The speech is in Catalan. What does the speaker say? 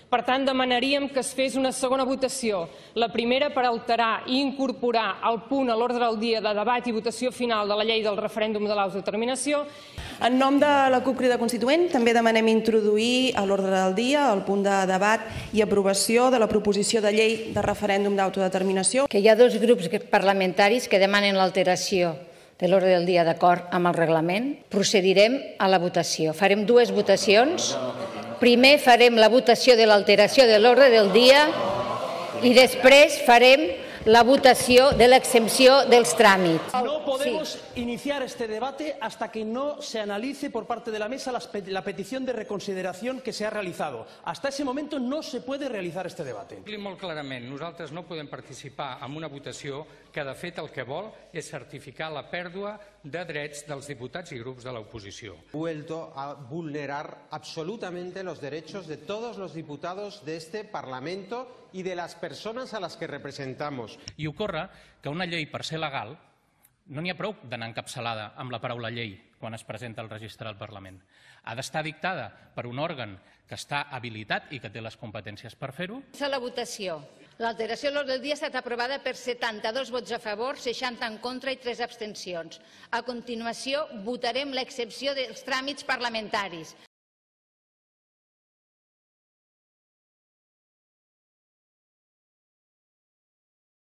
Per tant, demanaríem que es fes una segona votació. La primera per alterar i incorporar el punt a l'ordre del dia de debat i votació final de la llei del referèndum de l'autodeterminació. En nom de la CUP Crida Constituent també demanem introduir a l'ordre del dia el punt de debat i aprovació de la proposició de llei de referèndum d'autodeterminació. Que hi ha dos grups parlamentaris que demanen l'alteració de l'ordre del dia d'acord amb el reglament. Procedirem a la votació. Farem dues votacions. Primer farem la votació de l'alteració de l'ordre del dia i després farem la votació de l'exempció dels tràmits. No podemos iniciar este debate hasta que no se analice por parte de la mesa la petición de reconsideración que se ha realizado. Hasta ese momento no se puede realizar este debate. Molt clarament, nosaltres no podem participar en una votació que de fet el que vol és certificar la pèrdua de drets dels diputats i grups de l'oposició. Vuelto a vulnerar absolutamente los derechos de todos los diputados de este Parlamento y de las personas a las que representamos. I ocorre que una llei, per ser legal, no n'hi ha prou d'anar encapçalada amb la paraula llei quan es presenta al registre del Parlament. Ha d'estar dictada per un òrgan que està habilitat i que té les competències per fer-ho. La votació. L'alteració de l'ordre del dia ha estat aprovada per 72 vots a favor, 60 en contra i 3 abstencions. A continuació, votarem l'exempció dels tràmits parlamentaris.